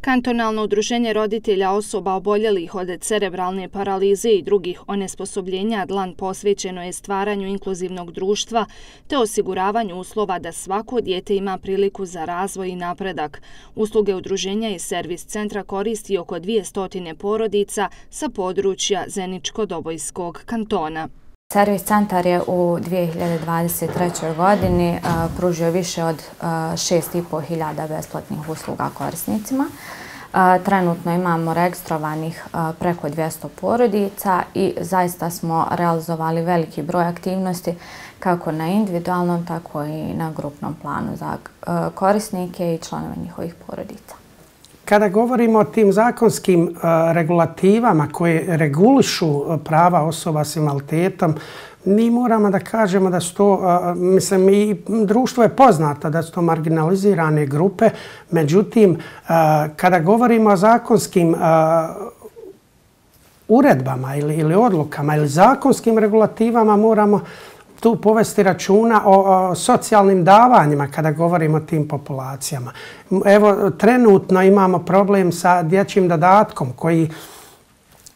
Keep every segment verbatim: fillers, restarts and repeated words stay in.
Kantonalno udruženje roditelja osoba oboljelih od cerebralne paralize i drugih onesposobljenja dlan posvećeno je stvaranju inkluzivnog društva te osiguravanju uslova da svako dijete ima priliku za razvoj i napredak. Usluge udruženja i servis centra koristi oko dvjesto porodica sa područja Zeničko-Dobojskog kantona. Servis centar je u dvije hiljade dvadeset trećoj godini pružio više od šest i po hiljada besplatnih usluga korisnicima. Trenutno imamo registrovanih preko dvjesto porodica i zaista smo realizovali veliki broj aktivnosti kako na individualnom, tako i na grupnom planu za korisnike i članove njihovih porodica. Kada govorimo o tim zakonskim regulativama koje regulišu prava osoba s invaliditetom, mi moramo da kažemo da su to, mislim, i društvo je poznato da su to marginalizirane grupe, međutim, kada govorimo o zakonskim uredbama ili, ili odlukama ili zakonskim regulativama, moramo tu povesti računa o, o socijalnim davanjima kada govorimo o tim populacijama. Evo, trenutno imamo problem sa dječjim dodatkom koji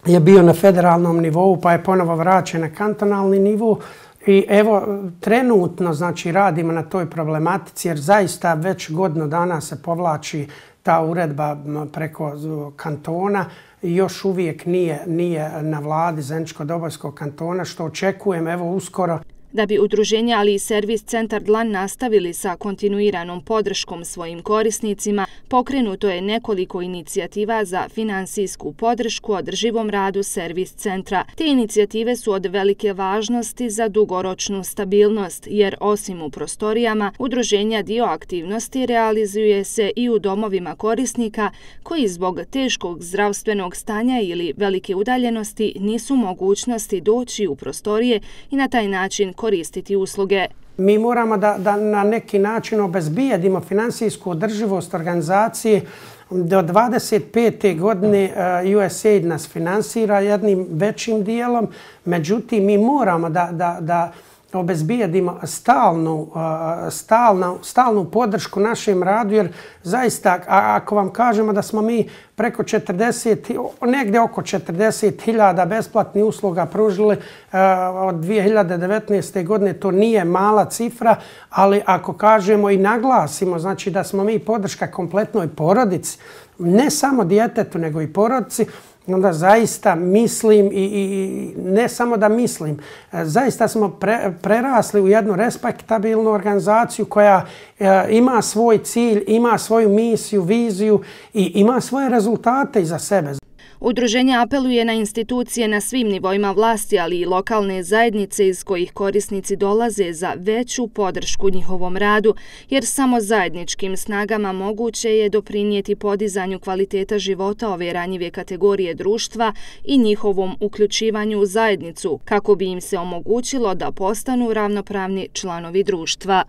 je bio na federalnom nivou pa je ponovo vraćen na kantonalni nivo. I evo, trenutno znači, radimo na toj problematici jer zaista već godinu dana se povlači ta uredba preko kantona i još uvijek nije, nije na vladi Zeničko-Dobojskog kantona, što očekujem evo uskoro. Da bi udruženje, ali i servis centar dlan nastavili sa kontinuiranom podrškom svojim korisnicima, pokrenuto je nekoliko inicijativa za finansijsku podršku održivom radu servis centra. Te inicijative su od velike važnosti za dugoročnu stabilnost, jer osim u prostorijama, udruženja dio aktivnosti realizuje se i u domovima korisnika koji zbog teškog zdravstvenog stanja ili velike udaljenosti nisu u mogućnosti doći u prostorije i na taj način koristiti usluge. Mi moramo da, da na neki način obezbijedimo finansijsku održivost organizacije. Do dvadeset pete godine U S A I D nas finansira jednim većim dijelom, međutim mi moramo da, da, da obezbijedimo stalnu, stalnu, stalnu podršku našem radu, jer zaista ako vam kažemo da smo mi preko četrdeset, negdje oko četrdeset hiljada besplatnih usluga pružili od dvije hiljade devetnaeste. godine, to nije mala cifra, ali ako kažemo i naglasimo znači da smo mi podrška kompletnoj porodici, ne samo djetetu nego i porodici, onda zaista mislim i, i ne samo da mislim, zaista smo pre, prerasli u jednu respektabilnu organizaciju koja e, ima svoj cilj, ima svoju misiju, viziju i ima svoje rezultate iza sebe. Udruženje apeluje na institucije na svim nivoima vlasti, ali i lokalne zajednice iz kojih korisnici dolaze za veću podršku njihovom radu, jer samo zajedničkim snagama moguće je doprinijeti podizanju kvaliteta života ove ranjive kategorije društva i njihovom uključivanju u zajednicu, kako bi im se omogućilo da postanu ravnopravni članovi društva.